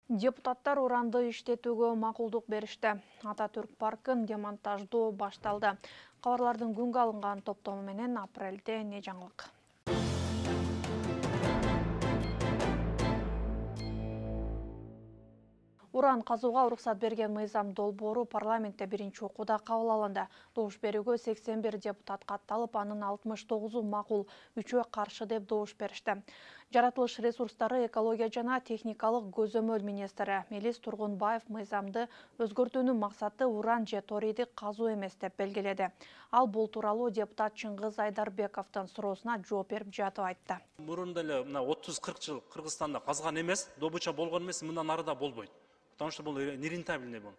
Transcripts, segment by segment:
Депутаттар уранды иштетүүгө макулдук беришти. Ататүрк паркын демонтаждоо башталды. Кабарлардын күнгө алынган топтому менен апрелде эмне жаңылык? Уран казууга уруксат берген мыйзам долбоору парламентте биринчи окууда кабыл алынды. Добуш берүүгө 81 депутат катталып, анын 69-у макул, 3-өө каршы деп добуш беришти. Жаратылыш ресурстары, экология жана техникалык көзөмөл министри Мелис Тургунбаев мыйзамды өзгөртүүнүн максаты уран же торийди казуу эмес деп белгиледи. Ал бул тууралуу депутат Чыңгыз Айдарбековдун суроосуна жооп берип жатып айтты. Мурунда эле 30-40 жыл Кыргызстанда казган эмес, добыча болгон эмес, мындан ары да болбойт. Потому что бул нерентабельный бул.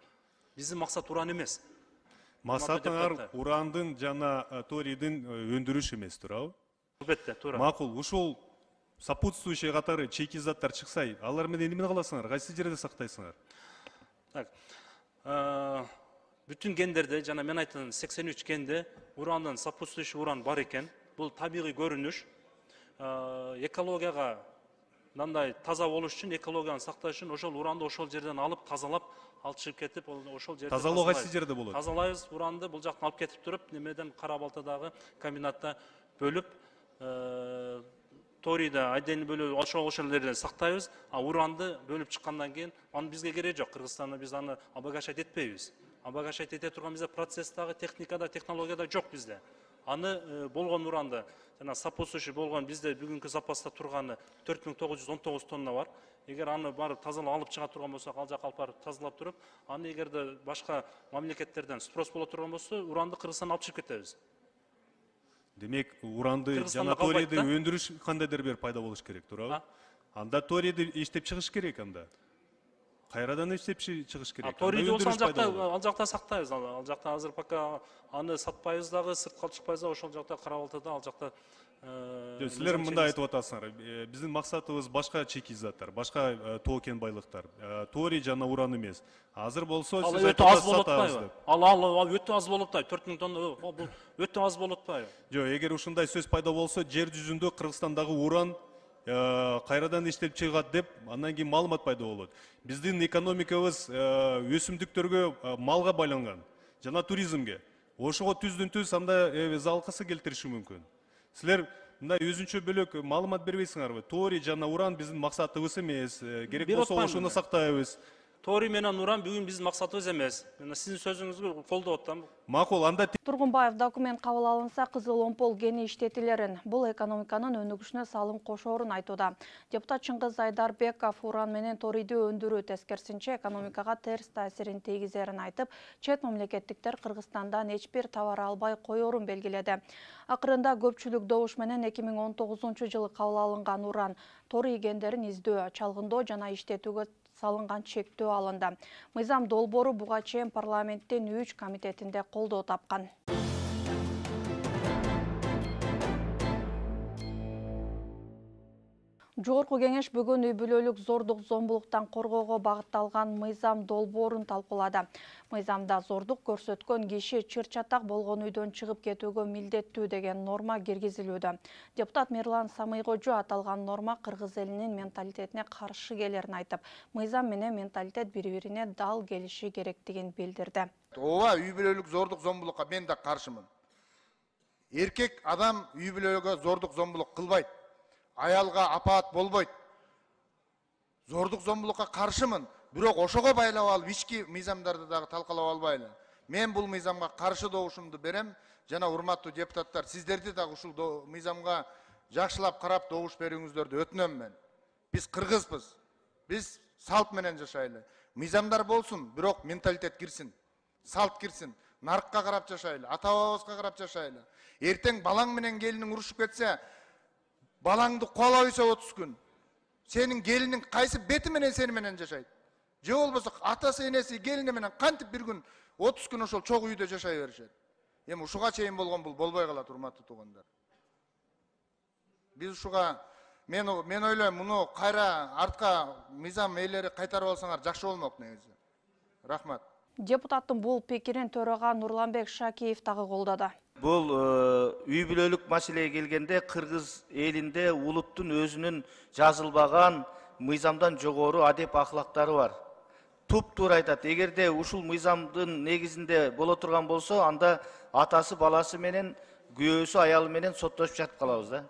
Биздин максат уран эмес. Максатыңар урандын жана торийдин өндүрүш эмес, туурабы? Албетте, туура. Макул, ушул сопутствующий катары чейки заттар чыкса, алар менен эмне кыласыңар? Кайсы жерде сактайсыңар? Так. Бүтүн гендерде жана мен айткан 83 генде урандан сопутствующий уран бар экен. Бул табигый көрүнүш. Экологияга мындай таза болуш үчүн, экологияны сакташ үчүн ошол уранды ошол жерден алып, тазалап, алып чыгып кетип, ошол жерде тазалоо кайсы жерде болот? Тазалайбыз, уранды бул жактан алып кетип туруп, немеден Кара Балтадагы комбинатта бөлүп, торийди айдени бөлүп, ошол жерден сактайбыз, а уранды бөлүп чыккандан кийин аны бизге кереги жок. Кыргызстанда биз аны обогащать этпейбиз. Обогащать эте турган бизде процесстагы, техникада, технологияда жок бизде. Аны болгон уранды жана сопутствующий болгон бизде бүгүнкү запаста турганы 4919 тонна бар. Эгер аны барып тазалап алып чыга турган болсок, ал жакка алып барып тазалап туруп, аны эгерде башка мамлекеттерден спрос боло турган болсо, уранды Кыргызстандан алып чыгып кетебиз. Демек, уранды жана торийди өндүрүш кандайдыр бир пайда болуш керек, туурабы? Анда торийди иштеп чыгыш керек анда. Кайрадан иштеп чыгыш керек. Торийди болсо ал жакта сактайбыз. Ал жакта азыр пока аны сатпайбыз дагы, сыртка алып чыкпайбыз дагы, ошол жакта Кара Балтада ал жакта. Силер мындай айтып атасыңар. Биздин максатыбыз башка чейки заттар, башка тоо кен байлыктар. Торий жана уран эмес. Азыр болсо сиз өтө аз болот атпайбы? Ал өтө аз болот атпайбы? 4000 тонна бул өтө аз болот атпайбы? Жок, эгер ушундай сөз пайда болсо, жер жүзүндө Кыргызстандагы уран кайрадан иштеп чыгат деп, андан кийин маалымат пайда болот. Биздин экономикабыз өсүмдүктөргө, малга байланган жана туризмге. Ошого түздүн-түз анда залкысы келтириши мүмкүн. Силер мындай өзүнчө бөлөк маалымат бербейсиңарбы? Торий жана уран биздин максатыбыз эмес. Керек болсо ошону сактайбыз. Торий менен уран бүгүн биздин максатыбыз эмес. Мен сиздин сөзүңүзгө колдоп атам. Макул, анда Тургунбаев документ кабыл алынса, кызыл омпол кени иштетилерин, бул экономиканын өнүгүшүнө салым кошоорун айтууда. Депутат Чыңгыз Айдарбеков уран менен торийди өндүрүү тескерисинче экономикага терс таасирин тийгизерин айтып, чет мамлекеттиктер Кыргызстандан эч бир товар албай коерун белгиледи. Акырында көпчүлүк добуш менен 2019-жылы кабыл алынган уран, торий гендерин издөө, чалгындоо жана иштетүүгө салынган чектөө алынды. Мыйзам долбоору буга чейин парламенттин 3 комитетинде колдоо тапкан. Жогорку кеңеш бүгүн үй бүлөлүк зордук зомбулуктан коргоого багытталган мыйзам долбоорун талкуулады. Мыйзамда зордук көрсөткөн киши чыр-чатак болгон үйдөн чыгып кетүүгө милдеттүү деген норма киргизилүүдө. Депутат Мирлан Самыйкожо аталган норма кыргыз элинин менталитетине каршы келерин айтып, мыйзам менен менталитет бири-бирине дал келиши керектигин билдирди. Ооба, үй бүлөлүк зордук зомбулукка мен да каршымын. Эркек адам үй бүлөгө зордук зомбулук кылбайт. Аялга апаат болбойт. Зордук зомбулукка каршымын, бирок ошого байлап алып ички мыйзамдарды дагы талкалап албайлы. Мен бул мыйзамга каршы добушумду берем, жана урматтуу депутаттар, сиздерди дагы ушул мыйзамга жакшылап карап добуш берүүңүздөрдү өтүнөм мен. Биз кыргызбыз. Биз салт менен жашайлы. Мыйзамдар болсун, бирок менталитет кирсин. Салт кирсин. Нарыкка карап жашайлы, ата-бабабызга карап жашайлы. Эртең балаң менен келиниң урушуп кетсе, балаңды куалап үйсө 30 күн. Сенин келиниң кайсы бети менен сени менен жашайт? Же болбосо атасы, энеси, келини менен кантип бир күн 30 күн ошол чогуу үйдө жашай беришет? Эми ушуга чейин болгон бул болбой калат, урматтуу туугандар. Биз ушуга мен ойлойм, муну кайра артка мыйзам ээлери кайтарып алсаңар жакшы болмок негизи. Рахмат. Депутаттын бул пикирин төрага Нурланбек Шакиев дагы колдоду. Бул үй бүлөлүк маселеге келгенде кыргыз элинде улуттун өзүнүн жазылбаган мыйзамдан жогору адеп ахлактары бар. Туп-туура айтат. Эгерде ушул мыйзамдын негизинде боло турган болсо, анда атасы баласы менен, күйөөсү аялы менен соттошуп жатып калабыз да.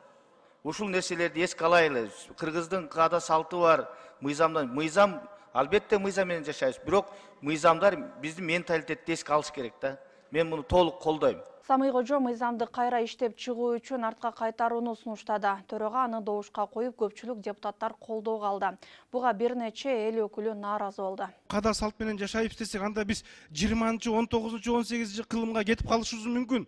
Ушул нерселерди эске алайлы. Кыргыздын каада салты бар. Мыйзам албетте мыйзам менен жашайбыз. Бирок мыйзамдар биздин менталитетти эске алыш керек да. Мен муну толук колдойм. Самый Кожо мыйзамды кайра иштеп чыгуу үчүн артка кайтарууну сунуштады. Төрага аны добушка коюп, көпчүлүк депутаттар колдоого алды. Буга бир нече эл өкүлү нааразы болду. Каада салт менен жашайбыз десек, анда биз 20-чы, 19-чы, 18-чи кылымга кетип калышыбыз мүмкүн.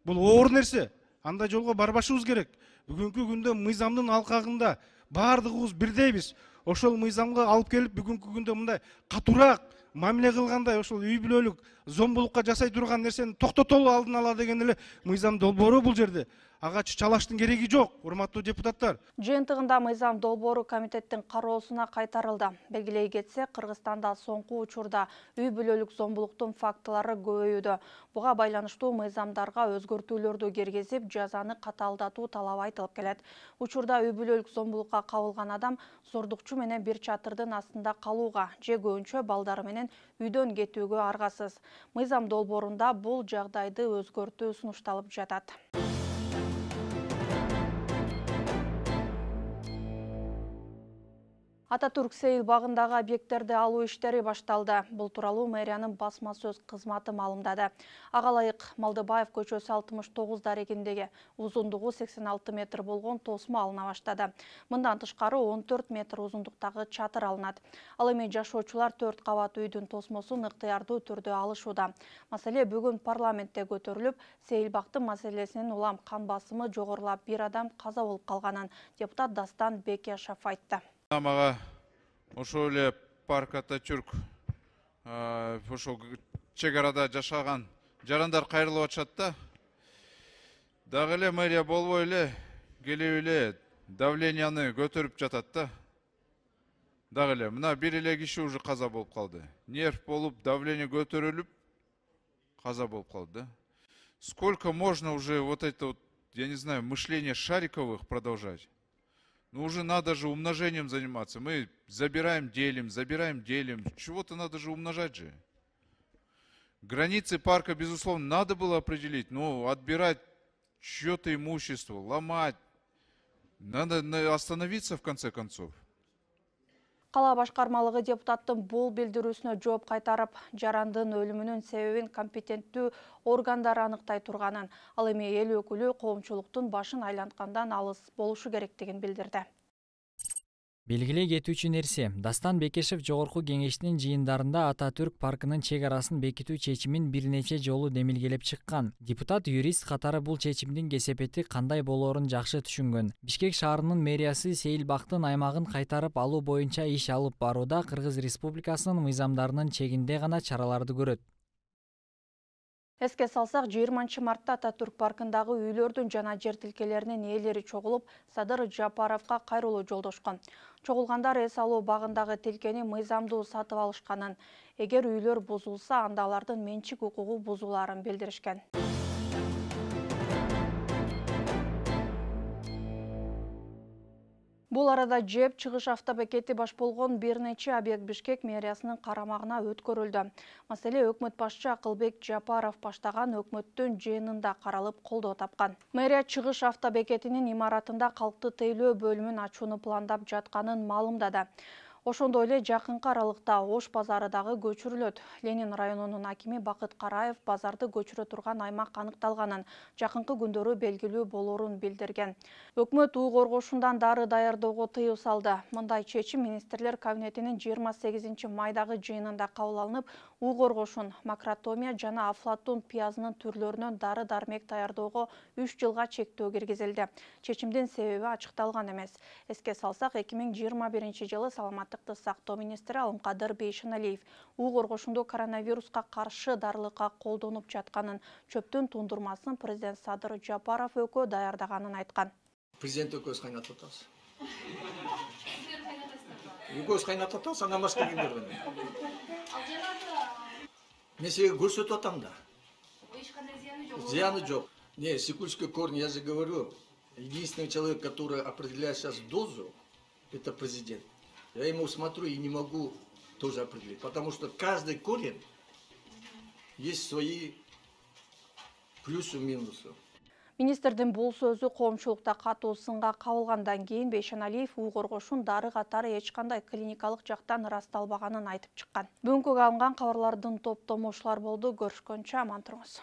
Бул оор нерсе. Андай жолго барбашыбыз керек. Бүгүнкү күндө мыйзамдын алкагында бардыгыбыз бирдейбиз. Ошол мыйзамга алып келип, бүгүнкү күндө мындай катуураак мамиле кылгандай, ошол үй бүлөлүк зомбулукка жасай турган нерсени токтотолу алдын ала деген эле мыйзам долбоору бул жерде. Ага чалаштын кереги жок, урматтуу депутаттар. Жыйынтыгында мыйзам долбоору комитеттин кароосуна кайтарылды. Белгилей кетсе, Кыргызстанда соңку учурда үй бүлөлүк зомбулуктун фактылары көбөйүүдө. Буга байланыштуу мыйзамдарга өзгөртүүлөрдү киргизип, жазаны катаалдатуу талабы айтылып келет. Учурда үй бүлөлүк зомбулукка кабылган адам зордукчу менен бир чатырдын астында калууга же көбүнчө балдары менен үйдөн кетүүгө аргасыз. Мыйзам долбоорунда бул жагдайды өзгөртүү сунушталып жатат. Ататүрк Сейил багындагы объекттерди алуу иштери башталды. Бул тууралуу мэриянын басма сөз кызматы маалымдады. Ага ылайык Малдыбаев көчөсү 69 дарегиндеги узундугу 86 метр болгон тосмо алына баштады. Мындан тышкары 14 метр узундуктагы чатыр алынат. Ал эми жашоочулар 4 кабат үйдүн тосмосун ыктыярдуу түрдө алышууда. Маселе бүгүн парламентте көтөрүлүп, Сейил бактын маселесинин улам кан басымы жогорулап, бир адам каза болуп калганын депутат Дастан Бекешев айтты. Мага ошол эле парк Ататүрк ошол чек арада жашаган жарандар кайрылып атышат да. Дагы эле мэрия болбой эле келип эле давленияны көтөрүп жатат да. Дагы эле мына бир эле киши уже каза болуп калды. Нерв болуп, давление көтөрүлүп каза болуп калды да. Сколько можно уже вот это вот, я не знаю, мышление шариковых продолжать? Ну уже надо же умножением заниматься. Мы забираем, делим. Чего-то надо же умножать же. Границы парка, безусловно, надо было определить. Но отбирать чье-то имущество, ломать. Надо остановиться в конце концов. Кала башкармалыгы депутаттын бул билдирүүсүнө жооп кайтарып, жарандын өлүмүнүн себебин компетенттүү органдар аныктай турганын, ал эми эл өкүлү коомчулуктун башын айланткандан алыс болушу керектигин билдирди. Белгилей кетүүчү нерсе, Дастан Бекешев жогорку кеңештин жыйындарында Ататүрк паркынын чек арасын бекитүү чечимин бир нече жолу демилгелеп чыккан. Депутат юрист катары бул чечимдин кесепети кандай болоорун жакшы түшүнгөн. Бишкек шаарынын мэриясы Сейил бактын аймагын кайтарып алуу боюнча иш алып барууда Кыргыз Республикасынын мыйзамдарынын чегинде гана чараларды көрөт. Эске салсак, 20 мартта Ататүрк паркындагы үйлөрдүн жана жер тилкелеринин ээлери чогулуп, Садыр Жапаровго кайрылуу жолдошкон. Чогулгандар эс алуу багындагы тилкени мыйзамдуу сатып алышканын, эгер үйлөр бузулса, анда алардын менчик укугу бузулаарын билдиришкен. Бул арада ЖЭБ чыгыш автобекети баш болгон бир нече объект Бишкек мэриясынын карамагына өткөрүлдү. Маселе өкмөт башчы Акылбек Жапаров баштаган өкмөттүн жыйынында каралып колдоо тапкан. Мэрия чыгыш автобекетинин имаратында калкты тейлөө бөлүмүн ачууну пландап жатканын маалымдады. Ошондой эле жакынкы аралыкта Ош базары дагы көчүрүлөт. Ленин районунун акими Бакыт Караев базарды көчүрө турган аймак аныкталганын, жакынкы күндөрү белгилүү болоорун билдирген. Өкмөт үй коргошундан дары даярдоого тыюу салды. Мындай чечим министрлер кабинетинин 28 майдагы жыйынында кабыл алынып, үй коргошун, макротомия жана афлатун пиязынын түрлөрүнөн дары дармек даярдоого 3 жылга чектөө киргизилди. Чечимдин себеби ачыкталган эмес. Эске салсак, 2021 жылы саламаттыкты сактоо министри Алымкадыр Бейшеналиев үй коргошунда коронавируска каршы дарылыкка колдонуп жатканын, чөптүн тундурмасын президент Садыр Жапаров экөө даярдаганын айткан. Президент экөөбүз кайнатып атабыз. Экөөбүз кайнатып атабыз, андан башка кимдер менен? Мен сизге көрсөтүп атам да. Зыяны жок. Секундочку, корни, я же говорю, единственный человек, который определяет сейчас дозу, это президент. Я ему смотрю и не могу тоже определить, потому что каждый корень есть свои плюсы и минусы. Министрдин бул сөзү коомчулукта катуу сынга кабылгандан кийин Бейшеналиев уу коргошун дары катары эч кандай клиникалык жактан ырасталбаганын айтып чыккан. Бүгүнкү алынган кабарлардын топтому ушулар болду. Көрүшкөнчө аман туруңуз.